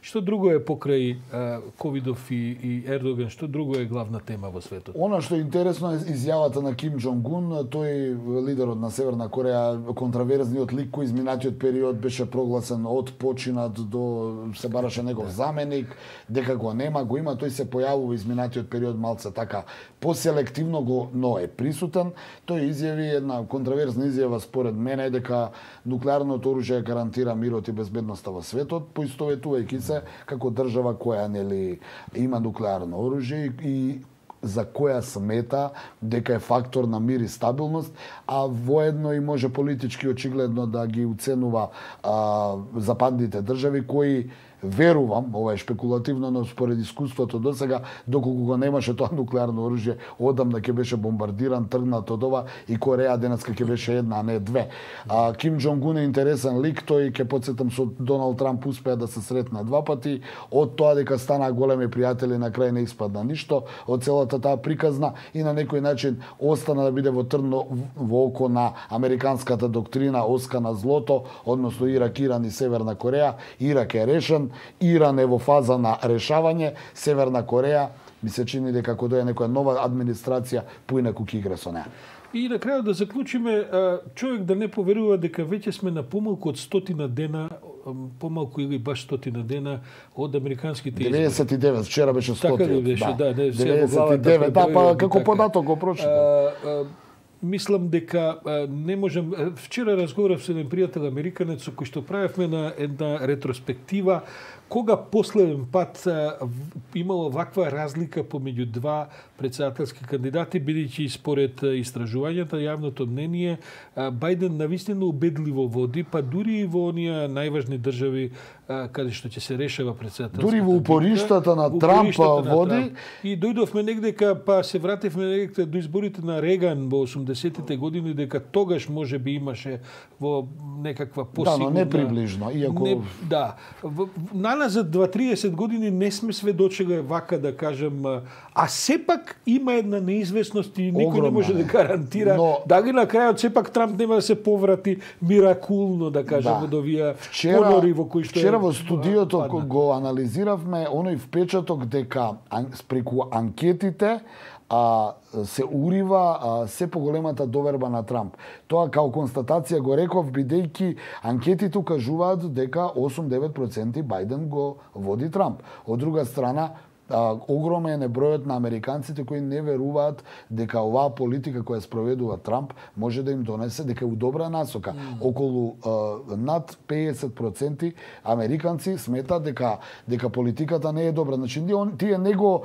Што друго е покрај Ковидов и Ердоган, што друго е главна тема во светот? Она што е интересно е изјавата на Ким Џонг Ун, тој лидерот на Северна Кореја, контраверзниот лик кој изминатиот период беше прогласен од починат до се бараше негов заменик, дека го нема, го има, тој се појавува изминатиот период малце така поселективно но е присутен. Тој изјави една контраверзна изјава според мене дека нуклеарното оружје гарантира мирот и безбедноста во светот, поистоветувајќи се како држава која нели има нуклеарно оружје и за која смета дека е фактор на мир и стабилност, а воедно и може политички очигледно да ги уценува западните држави кои верувам, ова е шпекулативно, но според искуството до сега, доколку го немаше тоа нуклеарно оружје, одамна ќе беше бомбардиран, тргнат од ова и Кореја денеска ќе беше една, а не две. Ким Џонг Ун е интересен лик, тој ќе потсетам со Доналд Трамп успеа да се сретна два пати, од тоа дека стана големи пријатели на крај не испадна ништо, од целата таа приказна и на некој начин остана да биде во трно во око на американската доктрина оска на злото, односно Ирак, Иран и Северна Кореја. Ирак е решен, Иран е во фаза на решавање, Северна Кореја ми се чини дека кога дојде некоја нова администрација поинаку ќе игра со неа. И на крајот да заклучиме, човек да не поверува дека веќе сме на помалку од 100 дена, помалку или баш 100 дена од американските избори. 99, вчера беше 100. Така ли беше, да, 99, да, па како податок го прочитав. Мислам дека не можем... Вчера разговарав со еден пријател американец со кој што правевме на една ретроспектива кога последен пат имало ваква разлика помеѓу два претседателски кандидати, бидејќи според истражувањата, јавното мнение, Бајден навистина убедливо води, па дури и во оние најважни држави каде што ќе се решава претседателската. Дури во упориштата на Трамп води. И дојдовме негдека, па се вративме негдека до изборите на Реган во 80-тите години, дека тогаш може би имаше во некаква посигурна... Да, но не приближно, иако... Не, да. Наназад 2-30 години не сме сведочеле вака да кажем, а сепак има една неизвестност и никој не може да гарантира дали на крајот сепак Трамп нема да се поврати миракулно, да кажем, од овие понори во кои што Вчера во студиото го анализиравме оној впечаток дека спреку анкетите се урива се поголемата доверба на Трамп. Тоа као констатација го реков, бидејќи анкетите укажуваат дека 8-9% Бајден го води Трамп. Од друга страна, огромен е бројот на американците кои не веруваат дека оваа политика која спроведува Трамп може да им донесе, дека е у добра насока. Околу над 50% американци сметаат дека политиката не е добра. Значи тие не го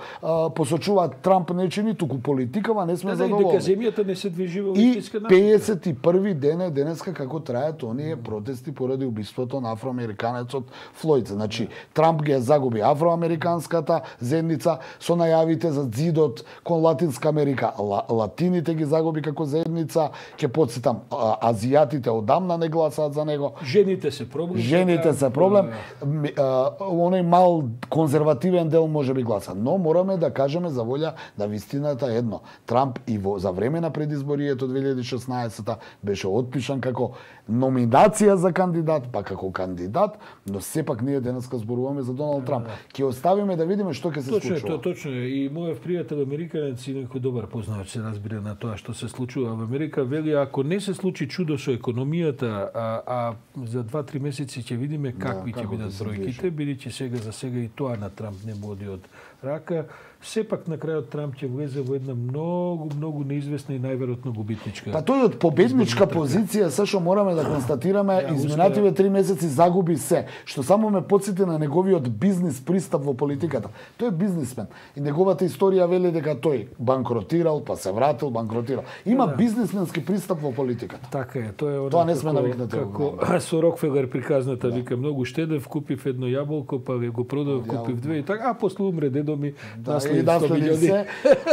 посочуваат Трамп не чини, туку политикава не сме задоволни. Дека земјата не се движи во истинска насока. И 51 ден е денеска како трајат оние протести поради убиството на афроамериканецот Флојд. Значи Трамп ги загуби афроамериканската заедница со најавите за зидот кон Латинска Америка. Латините ги загуби како заедница, ќе потсетам, азијатите одамна не гласаат за него. Жените се проблем. Жените се проблем. Оној мал конзервативен дел може би гласа. Но мораме да кажеме за волја да вистината едно. Трамп и за време на предизборието 2016 беше отпишан како номинација за кандидат, па како кандидат, но сепак ние денеска зборуваме за Доналд Трамп. Ќе оставиме да видиме што ќе се случува. Точно е. И мојот пријател американец и некој добар познавач се разбира на тоа што се случува во Америка, вели ако не се случи чудо со економијата, а за 2-3 месеци ќе видиме какви ќе бидат бројките, бидејќи за сега и тоа на Трамп не му оди од рака, сепак на крајот Трамп ќе влезе во една многу неизвестна и најверојатно губитничка. Па тој од победничка позиција, се што мораме да констатираме, изминативе 3 месеци загуби се, што само ме потсети на неговиот бизнис пристап во политиката. Тој е бизнисмен и неговата историја вели дека тој банкротирал, па се вратил, банкротирал. Има бизнисменски пристап во политиката. Така е, тоа не сме навикнати. Како со Рокфелер приказната вика многу штедев, купив едно јаболко, па го продав, купив две и така, а после умре дедо ми, наследи се,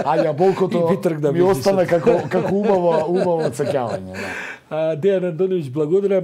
а јаболкото ми остана како убаво отсеќавање. Дејан Андоновиќ, благодарам.